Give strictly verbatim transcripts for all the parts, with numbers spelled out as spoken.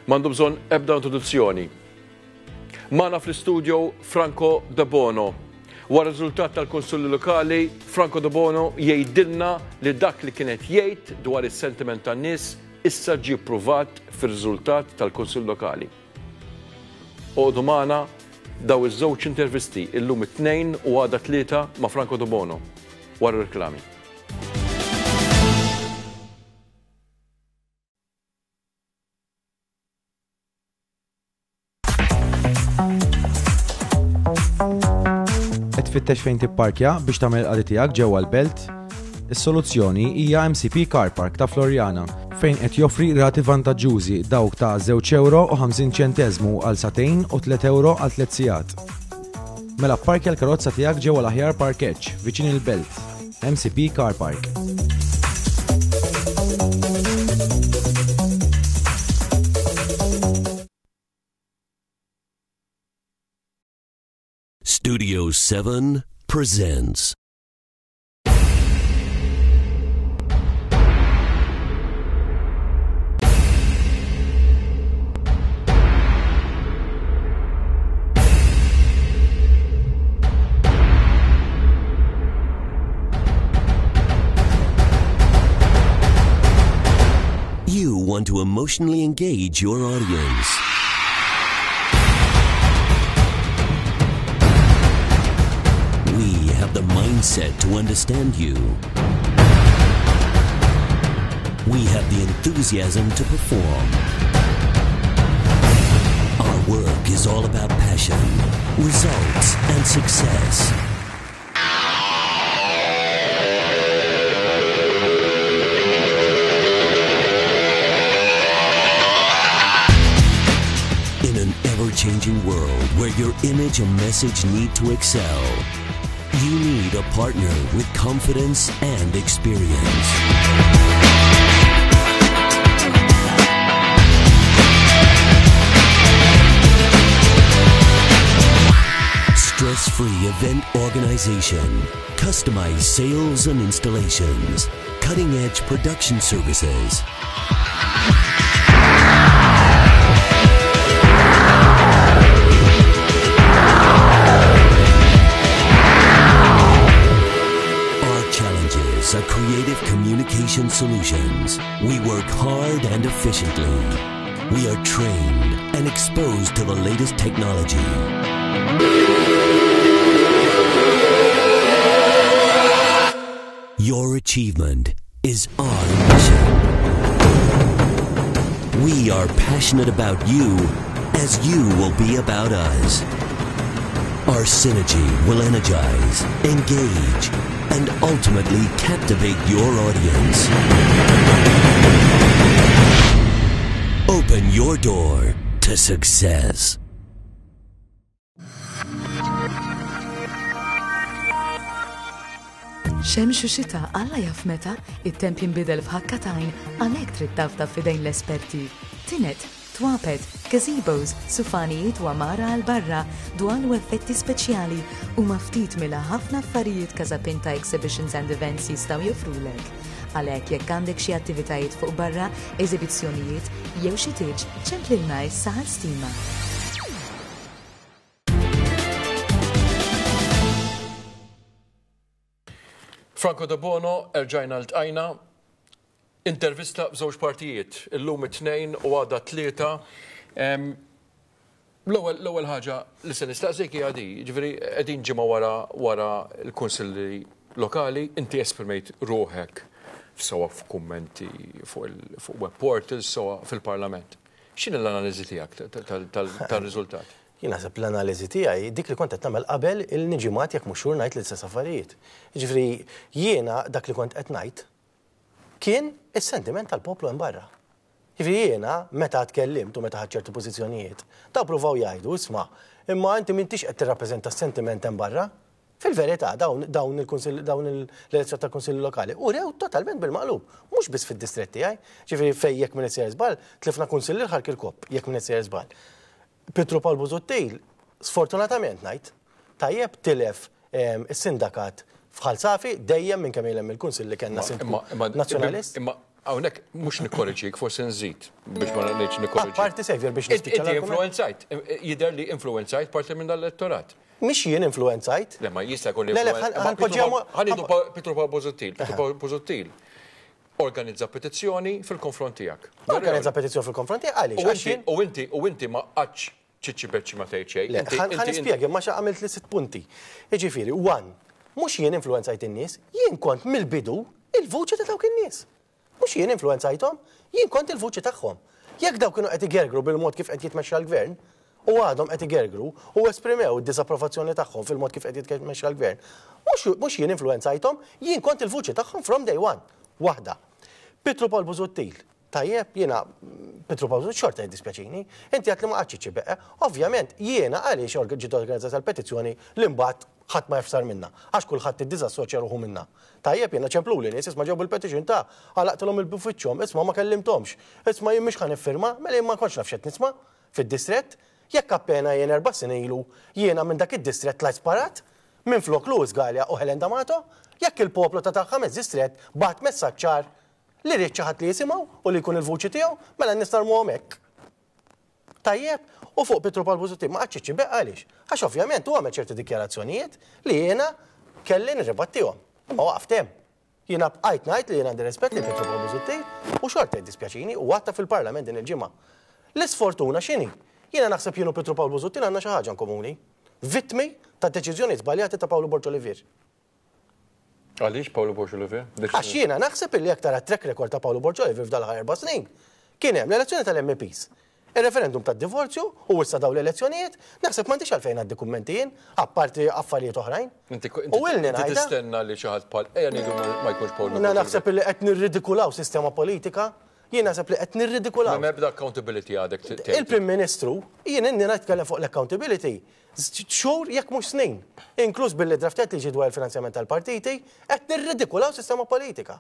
M'għandu bżonn ebda introduzzjoni. Magħna fl-istudio Franco Debono. Wara riżultat tal-Kunsilli Lokali, Franco Debono jgħidilna li dak li kienet jgħid dwar is-sentiment tan-nies issa ġie ppruvat fir-riżultat tal-Kunsill Lokali. Oqogħdu magħna daw iż-żewġ intervisti illum it-tnejn u għada tlieta ma' Franco Debono wara reklami. Qed tfittex fejn tipparkja biex tagħmel il-qadi tiegħek ġewwa l-belt? Is-soluzzjoni hija M C P Car Park ta' Floriana, fejn qed joffri rati vantaġġużi, dawk ta' żewġ euro u ħamsin ċenteżmu għal sagħtejn u tliet euro għal tliet sigħat. Mela parkja l-karozza tiegħek ġewwa l-aħjar parkeġġ viċin il-belt. M C P Car Park. Studio seven presents. You want to emotionally engage your audience. We have the mindset to understand you. We have the enthusiasm to perform. Our work is all about passion, results, and success. In an ever changing world where your image and message need to excel, you need a partner with confidence and experience. Stress free event organization, customized sales and installations, cutting edge production services. Our challenges are creative communication solutions. We work hard and efficiently. We are trained and exposed to the latest technology. Your achievement is our mission. We are passionate about you as you will be about us. Our synergy will energize, engage, and ultimately captivate your audience. Open your door to success. Xemx u xita, Alla jaf meta, it-temp jinbidel f'ħakka t'għajn, għalhekk trid tafda f'idejn l-esperti. Tined, twapet, gazebos, sufanijiet u għamara għal barra, dwal u effetti speċjali u ftit mill-ħafna affarijiet Casapinta Exhibitions and Events jistgħu joffrulek. Għalhekk jekk għandek xi attivitajiet fuq barra, eżibizzjonijiet jew xi tieġ, ċemplilna issa għal stima. Franco Debono, erġajna ltqajna, intervista b'żewġ partijiet, illum it-tnejn u għada tlieta. Em, L-ewwel l-ewwel ħaġa li se nistaqsik hija di, ġifieri qegħdin ġimgħa wara wara l-kunsilli lokali, inti esprimejt ruħek sewa f'kummenti fuq il- fuq web portals, sewa fil-Parlament. X'inhi l-analiżi tiegħek tal- tal- tal-riżultat? Jien naħseb l-analiżi tiegħi dik li kont qed nagħmel qabel il-ġimgħat, jekk mhux xhur, ngħid l-istess affarijiet. Jiġifieri jiena dak li kont qed ngħid kien is-sentiment tal-poplu hemm barra. Jiġifieri jiena meta tkellimt u meta ħadt ċertu pożizzjonijiet, daw pruvaw jgħidu, "Isma', imma inti m'intix qed tirrappreżenta s-sentiment hemm barra." Fil-verità, dawn dawn il-kunsill dawn l-elezzjoni tal-kunsilli lokali urew totalment bil-maqlub, mhux biss fid-distrett tiegħi, ġifieri fejn, jekk m'iniex sejjer żball, tlifna kunsillier Ħal Kirkop, jekk m'iniex sejjer żball. Pietru Pawl Busuttil, sfortunatament ngħid, tajjeb, tilef em, is-sindakat f'Ħal Safi dejjem minn kemm ilhem il-kunsill li kellna sindku Imma- imma- nazzjonalist. Imma Hawnhekk mhux nikkorreġik, forsi nżid biex ma ngħidx nikkorreġik. Apparti, Xavier, biex nispiċċa. Inti influenzajt, jidher li influenzajt parti minn dal-elettorat. Mhix jien influenzajt. Le, ma jista' jkun li. Ħa nieħdu Pietru Pawl Busuttil. Pietru Pawl Busuttil organizza petizzjoni fil-konfront tiegħek. Organizza petizzjoni fil-konfront tiegħek għaliex? U inti u inti ma qatx ċiċċi beċċi ma tgħid xejn. Ħa nispjega ma xa għamilt li sitt punti. Jiġifieri, one, mhux jien influenzajt in-nies, jien kont mill-bidu il-vuċi ta' dawk in-nies. Mhux jien influenzajthom, jien kont il-vuċi tagħhom. Jekk dawk kienu qed igergru bil-mod kif qed jitmexxa l-gvern, u għadhom qed igergru u esprimew id-disapprovazzjoni tagħhom fil-mod kif qed jitmexxa l-gvern, mhux jien influenzajthom, jien kont il-vuċi tagħhom from day one. Waħda. Pietru Pawl Busuttil, tajjeb, jiena Pietru Pawl Busuttil xorta jiddispjaċini, inti għedt li ma qgħadx ċibeqe, ovvjament jiena għaliex ġiet organizzata l-petizzjoni li mbagħad ħadd ma jaf x'sar minnha, għax kulħadd iddisassoċja ruħu minnha. Tajjeb, jiena ċempluli nies, isma' ġew bil-petition ta' għalaqtilhom il-bufiċċhom, isma' ma kellimthomx, isma' jien mhux ħa niffirma, mela jien ma kontx naf x'qed nisma' fid-distrett, jekk appena jien erba' snin ilu jiena minn dak id-distrett tlajt sparat, minn flok Louis Galea u Helen D'Amato, jekk il-poplu ta' tal-ħames distrett bagħat messaġġ ċar li ried xi ħadd li jisimgħu u li jkun il-vuċi tiegħu, mela n-nies narmuhom hekk. Tajjeb, u fuq Pietru Pawl Busuttil ma qgħadx ċibeq għaliex? Għax ovvjament u għamel ċerti dikjarazzjonijiet li jiena kelli nirribattihom. Imma waqft hemm. Jiena bqajt ngħid li jiena għandi rispett li Pietru Pawl Busuttil u xorta jiddispjaċini u għadtha fil-Parlament din il-ġimgħa. L-isfortuna x'inhi? Jiena naħseb jien u Pietru Pawl Busuttil għandna xi ħaġa komuni. Vittmi ta' deċiżjoni żbaljati ta' Pawlu Borg Olivier. Għaliex Pawlu Borg Olivier? Għax jiena naħseb illi jekk tara track record ta' Pawlu Borg Olivier f'dal erba' snin. Kien hemm l-elezzjoni tal-M Ps, il-referendum tad-divorzju u issa daw l-elezzjonijiet, naħseb m'għandix għalfejn għaddi kummenti jien, apparti affarijiet oħrajn. Inti U ilni ngħidha. tistenna li xi ħadd bħal ejja ngħidu ma jkunx Pawlu. Jiena naħseb li qed nirridikulaw sistema politika, jien naħseb li qed nirridikulaw. Ma ebda accountability għadek tgħid. Il-Prim Ministru, jien inni nitkellem fuq l-accountability, xhur jekk mhux snin, inkluż billi draftet liġi dwar il-finanzjament tal-partiti, qed nirridikulaw sistema politika.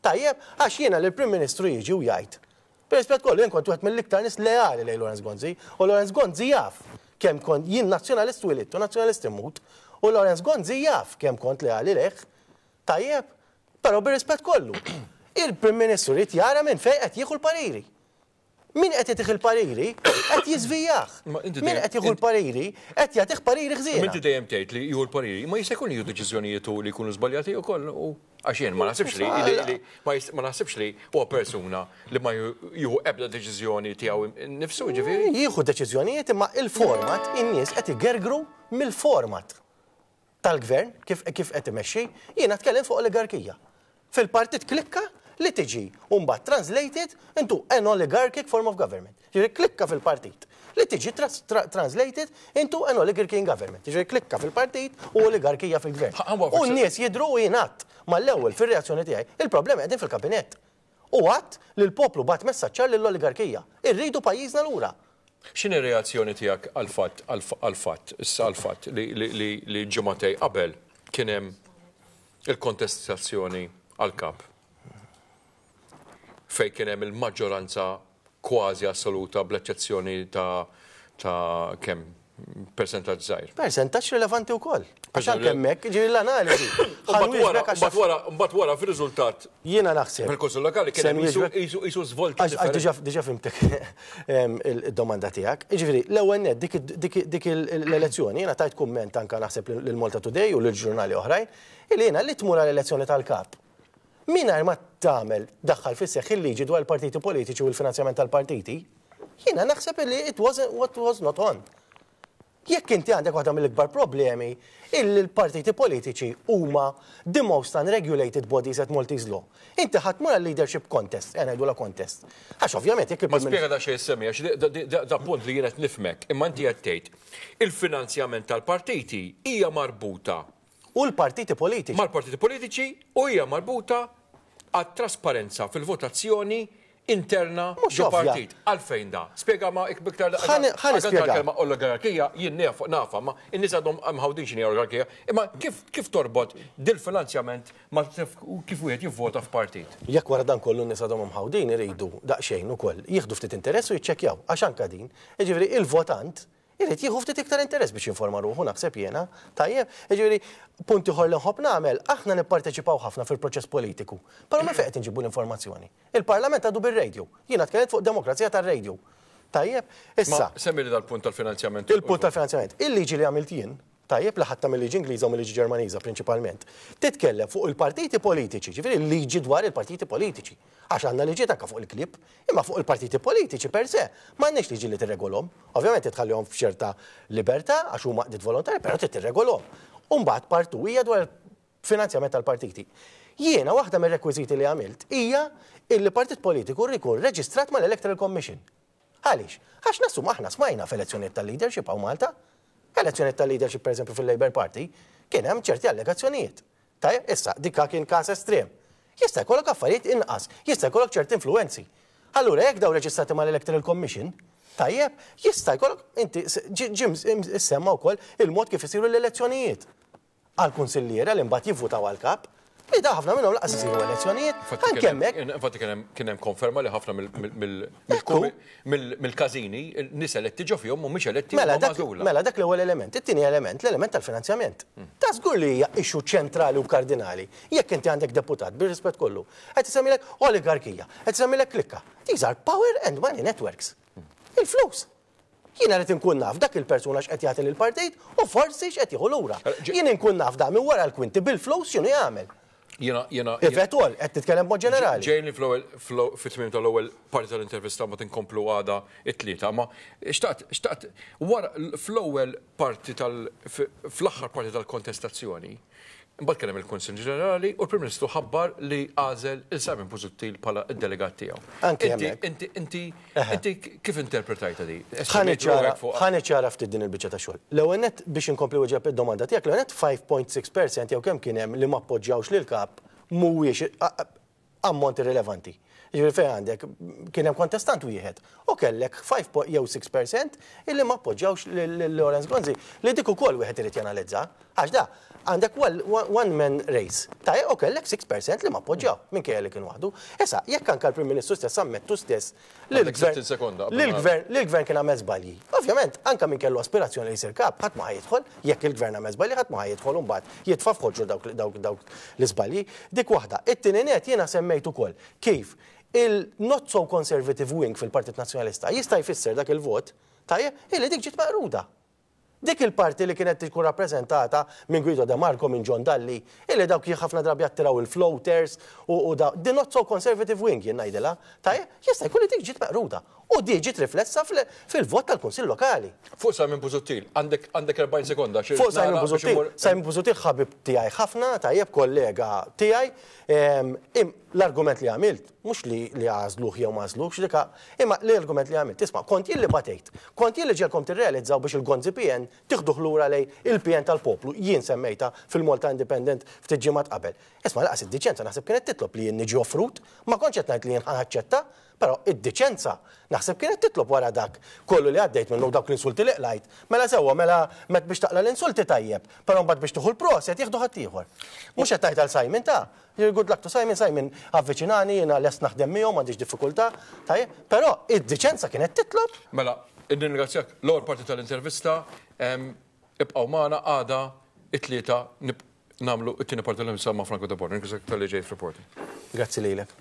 Tajjeb, għax jiena li l-Prim Ministru jiġi u jgħid. Per kollu, jien kont wieħed mill-iktar nies leali lejn Lawrence Gonzi, u Lawrence Gonzi jaf kemm kont jien nazzjonalist twilidt u nazzjonalist immut, u Lawrence Gonzi jaf kemm kont leali lejh. Tajjeb, però bir-rispett kollu. Il-Prim Ministru jrid jara minn fejn qed jieħu l-pariri. Min qed jagħtih il-pariri qed jiżvijah. Ma inti Min dejjem- qed jieħu l-pariri qed jagħtih pariri ħżiena. Inti dejjem tgħid li jieħu l-pariri, ma jista' jkun jieħu deċiżjonijiet li jkunu żbaljati wkoll u għax jien ma naħsibx li li- li ma jist- ma naħsibx li huwa persuna li ma jieħu ebda deċiżjoni tiegħu nnifsu, ġifieri. Jieħu deċiżjonijiet, imma il-format, in-nies qed igergru mill-format tal-gvern kif kif qed imexxi, jiena tkellem fuq oligarkija. Fil-partit klikka li tiġi u mbagħad translated into an oligarchic form of government. Ġifieri klikka fil-partit li tiġi tras- tra translated into an oligarchy in government. Ġifieri klikka fil-partit u oligarkija fil-gvern. Ha- ha- U n-nies jidru u jingħad mal-ewwel fir-reazzjoni tiegħi, il-problema qegħdin fil-kabinett. U għedt li l-poplu bagħat messaġġ ċar lill-oligarkija. Irridu pajjiżna lura. X'inhi reazzjoni tiegħek għal-fatt għal-fatt issa għal-fatt li li li li ġimagħtejn qabel kien hemm il-kontestazzjoni għal-kap fejn kien hemm il-maġġoranza kważi assoluta bl-eċċezzjoni ta' ta' kemm percentaġġ żgħir. Percentaġġ rilevanti wkoll. Għax anke hemmhekk ġieli l-analiżi. Mbagħad wara, mbagħad wara, mbagħad wara fir-riżultat Jiena naħseb. fil-Kunsill Lokali kien Se hemm qisu nwieġbek- qisu qisu żvolta Għax għax differenti. diġà diġà fhimtek em, il-domanda tiegħek. Jiġifieri, l-ewwel nett dik dik dik l-elezzjoni jiena tajt kumment anka naħseb lil Malta Today u lil ġurnali oħrajn illi jiena li tmur għall-elezzjoni tal-kap. Mingħajr ma tagħmel daħħal fis-seħħ il-liġi dwar il-partiti politiċi u l-finanzjament tal-partiti, jiena naħseb illi it wasn't what was not on. Jekk inti għandek waħda mill-ikbar problemi illi l-partiti politiċi huma the most unregulated bodies at Maltese law. Inti ħadd mur leadership contest, għana la contest. Għax ovvjament jekk Ma il-Prim spjega da xejn semmi, għax da- da- da- da punt li jien qed nifhmek, imma inti qed tgħid il-finanzjament tal-partiti hija marbuta u l-partiti politiċi. Mal-partiti politiċi u hija marbuta għat-trasparenza fil-votazzjoni interna Mhux ġo ovvja. partit. Għalfejn da? Spjega ma iktar Ħa ni- ħa nispjega. Kelma oligarkija, jien naf nafa, ma in-nies għadhom mħawdin x'inhi oligarkija, imma kif kif torbot dil-finanzjament ma kif wieħed jivvota f'partit? Jekk wara dan kollu n-nies għadhom mħawdin, iridu daqsxejn ukoll jieħdu ftit interess u jiċċekkjaw għax anka din. Jiġifieri il-votant Irid jieħu ftit iktar interess biex jinforma ruħu, naħseb jiena. Tajjeb, jiġifieri punt ieħor li nħobb nagħmel, aħna nipparteċipaw ħafna fil-proċess politiku. Però minn fejn qed inġibu l-informazzjoni? Il-Parlament għadu bir-radio. Jiena tkellimt fuq demokrazija tar-radio. Tajjeb, issa. Semmi li dal-punt tal-finanzjament. Il-punt tal-finanzjament. Il-liġi li għamilt jien, tajjeb, li ħadtha mill-liġi Ingliża u mill-liġi Ġermaniża prinċipalment, titkellem fuq il-partiti politiċi, ġifieri l-liġi dwar il-partiti politiċi. Għax għandna liġi anke fuq il-klib, imma fuq il-partiti politiċi per se, m'għandniex liġi li tirregolhom. Ovvjament titħallihom f'ċerta libertà għax huma għaqdiet volontari, però trid tirregolhom. U mbagħad part two hija dwar il-finanzjament tal-partiti. Jiena waħda mir-rekwiżiti li għamilt hija illi partit politiku jkun reġistrat mal-Electoral Commission. Għaliex? Għax nassum aħna smajna f'elezzjonijiet tal-leadership hawn Malta. Elezzjonijiet tal-leadership, per eżempju, fil-Labour Party, kien hemm ċerti allegazzjonijiet. Tajjeb, issa dikka kien każ estrem. Jista' jkollok affarijiet inqas, jista' jkollok ċerti influenzi. Allura jekk daw reġistrati mal-Electoral Commission, tajjeb, jista' jkollok inti ġim issemma wkoll il-mod kif isiru l-elezzjonijiet għal kunsilliera li mbagħad jivvutaw għal-kap, li da ħafna minnhom lanqas isiru elezzjonijiet. Anke hemmhekk. Infatti kien hemm konferma li ħafna mill-każini nies eletti ġo fihom mhumiex eletti. Mela dak, mela dak l-ewwel element. It-tieni element, l-element tal-finanzjament. Ta' żgur li hija issue ċentrali u kardinali. Jekk inti għandek deputat, bir-rispett kollu, qed isemmilek oligarkija, qed isemmilek klikka. These are power and money networks. Il-flus. Jiena rrid inkun naf dak il-persuna x'qed jagħti lill-partit u forsi x'qed jieħu lura. Jien inkun naf da minn wara l-kwinti bil-flus x'inhu jagħmel. Jena, jena. If at all, qed titkellem mod ġenerali. Ġejni fl-ewwel, fit-tmiem tal-ewwel parti tal-intervista, ma tinkomplu għada it-Tlieta, ma xtaqt, xtaqt, wara fl-ewwel parti tal, fl-aħħar parti tal-kontestazzjoni, mbagħad kien hemm il-Kunsill Ġenerali u l-Prim Ministru ħabbar li għażel il-Simon Busuttil bħala id-delegat tiegħu. Anki Inti, hemmhekk. inti, inti, inti kif interpretajta di? Ħa niċċara ftit din il-biċċa ta' xogħol. L-ewwel nett, biex inkompli weġeb id-domanda tiegħek, l-ewwel nett ħamsa punt sitta percent jew kemm kien hemm li ma appoġġjawx lil kap mhuwiex ammont irrilevanti. Jiġifieri fejn għandek kien hemm kontestant wieħed u kellek ħamsa jew sitta percent illi ma appoġġjawx lil Lawrence Gonzi, li dik ukoll wieħed irid janalizza. Għax da għandek one man race. Tajjeb, u kellek sitta percent li ma appoġġjaw minkejja li kien waħdu. Issa, jekk anke l-Prim Ministru stess ammettu stess li Għandek sittin sekonda qabel ma- l-gvern li l-gvern kien għamel żbalji. Ovvjament, anke min kellu aspirazzjoni li jsir kap, ħadd ma jidħol, jekk il-gvern għamel żbalji, ħadd ma jidħol u mbagħad jitfa' f'ħoġru dawk dawk dawk l-iżbalji. Dik waħda. It-tieni net, jiena semmejt ukoll kif il-not so conservative wing fil-Partit Nazzjonalista jista' jfisser dak il-vot, tajjeb, illi dik ġiet meqruda. Dik il-parti li kienet tkun rappreżentata minn Guido De Marco, minn John Dalli, illi dawk ħafna drabi attiraw il-floaters u, u da, the not so conservative wing jien ngħidilha, tajjeb, jista' jkun li dik ġiet meqruda. U di ġiet riflessa fil- fil-vot tal-Kunsill Lokali. Fuq Simon Busuttil, għandek għandek erbgħin sekonda. Xi Fuq Simon nara biex Busuttil, immur- Simon Busuttil ħabib tiegħi ħafna, tajjeb, kollega tiegħi. em, im- L-argument li għamilt, mhux li li għażluh jew ma għażluhx, dika, imma l-argument li għamilt, isma', kont jien li batejt, kont jien li ġegħeltkom tirrealizzaw biex il-Gonzi P N tiħduh lura lejn il-P N tal-poplu, jien semmejta fil-Malta Independent ftit ġimgħat qabel. Isma', lanqas id-diċenza naħseb kienet titlob li jien niġi offrut, ma kontx qed ngħid li jien ħaċċetta, però id-diċenza naħseb kienet titlob wara dak kollu li għaddejt minnu, dawk l-insulti li qlajt. Mela sewwa, mela met biex taqla l-insulti tajjeb, però mbagħad biex tieħu l-proset jieħdu ħaddieħor. Mhux qed tgħid għal Simon ta'. Good luck to Simon, Simon avviċinani, jiena lest naħdem miegħu, m'għandix diffikultà, tajjeb, però id-diċenza kienet titlob. Mela, nirringrazzjak, l-ewwel parti tal-intervista, em, ibqgħu magħna għada it-Tlieta nib- nagħmlu it-tieni parti tal-intervista ma' Franco Debono. Ringrazzjak talli ġejt Reporting. Grazzi lilek.